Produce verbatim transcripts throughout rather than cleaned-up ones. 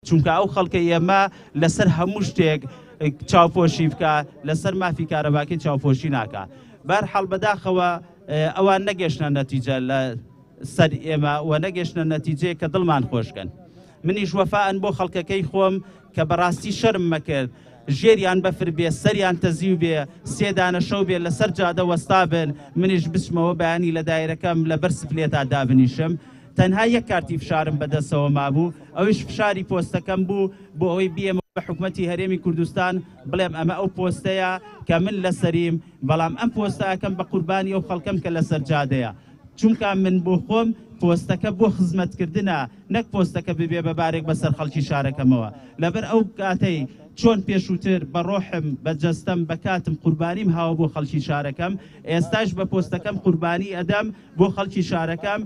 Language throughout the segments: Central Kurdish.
چونکە ئەو خەڵکەی ئێمە لەسەر هەموو شتێک چاوپۆشی بکە، لەسەر مافی کارەباکەی چاوپۆشی ناکە. بەرحاڵ بەداخەوە ئەوان نەگەشتە نەتیجە لە سەر ئێمە و نەگەشتە نەتیجەیە کە دڵمان خۆشکەن. منیش وەفاەن بۆ خەڵکەکەی خۆم کە بەڕاستی شەرم مەکرد، ژێریان بەفر بێ، سەریان تەزیو بێ، سێدانە شەو بێ لەسەر جادە وەستا بن، منیش بچمەوە بەیانی لە دایرەکەم لەبەر سپلێتا دابنیشم. تەنها یەک کارتی فشارم بەدەستەوە مابوو، ئەویش فشاری پۆستەکەم بوو بۆ ئەوەی بیەمە بە حکومەتی هەرێمی کوردستان بڵێم ئەمە ئەو پۆستەیە کە من لەسەریم، بەڵام ئەم پۆستەکەم بە قوربانی ئەو خەڵکەم کە لەسەر جادەیە، چونکە من بۆ خۆم پۆستەکە بۆ خزمەتکردنە، نەک پۆستەکە ببێ بە بارێک بەسەر خەڵکی شارەکەمەوە. لەبەر ئەو کاتەی چۆن پێشووتر بە ڕۆحم بە جەستەم بە کاتم قوربانیم هاوە بۆ خەڵکی شارەکەم، ئێستاش بە پۆستەکەم قوربانی ئەدەم بۆ خەڵکی شارەکەم.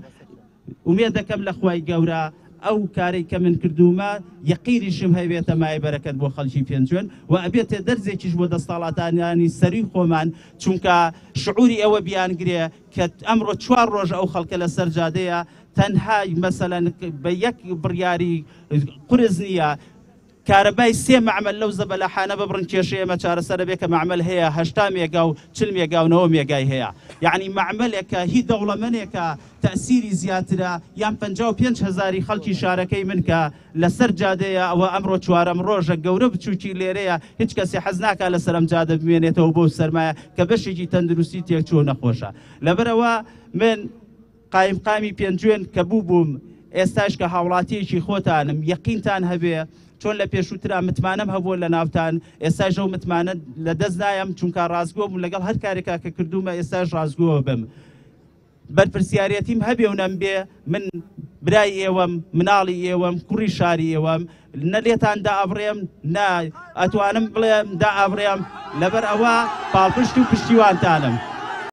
ئومێد دەکەم لە خوای گەورە ئەو کارەی کە من کردوومە یەقینیشم هەبێتە مای بەرەکەت بۆ خەڵکی پێنجوێن و ئەبێتە دەرزێکیش بۆ دەستاڵاتانیانی سەری خۆمان، چونکە شعوری ئەوە بیانگرێ کە ئەمڕۆ چوار ڕۆژ ئەو خەڵکە لەسەر جادەیە، تەنها مەسەلەن بە یەک بڕیاری قورس نییە کارەبای سێ مەعمل لەو زەبەلاحانە ببڕن کێشەی ئێمە چارەسەرە بێ کە مەعمل هەیە هەشتا مێگا و چل مێگا و نەوە مێگای هەیە. یعنی مەعملێکە هی دەوڵەمەنێکە تەئسیری زیاترە یان پەنجا و پێنج هەزاری خەڵکی شارەکەی من کە لەسەر جادەیە، ئەوە ئەمڕۆ چوارەم ڕۆژە گەورە بچووکی لێرەیە، هیچ کەسێ حەز ناکا لەسەر ئەم جادە بمێنێتەوە بۆ سەرمایە کە بەشێکی تەندروستی تێکچووە نەخۆشە. لەبەرەوە من قایمقامی پێنجوێن کە بوو بووم، ئێستاش کە هاوڵاتیەکی خۆتانم، یەقینتان هەبێ چۆن لە پێشووترا متمانەم هەبووە لە ناوتان، ئێستاش ئەو متمانە لە دەست نایم، چونکە ڕاستگۆ بووم لەگەڵ هەر کارێکا کە کردوومە ئێستاش ڕاستگۆ بم. بەرپرسیارەتیم هەبێ و نەمبێ، من برای ئێوەم، مناڵی ئێوەم، کوڕی شاری ئێوەم، نە لێتان دائابڕێم، نە ئەتوانم بڵێم دائابڕێم، لەبەر ئەوە پاڵپشت و پشتیوانتانم.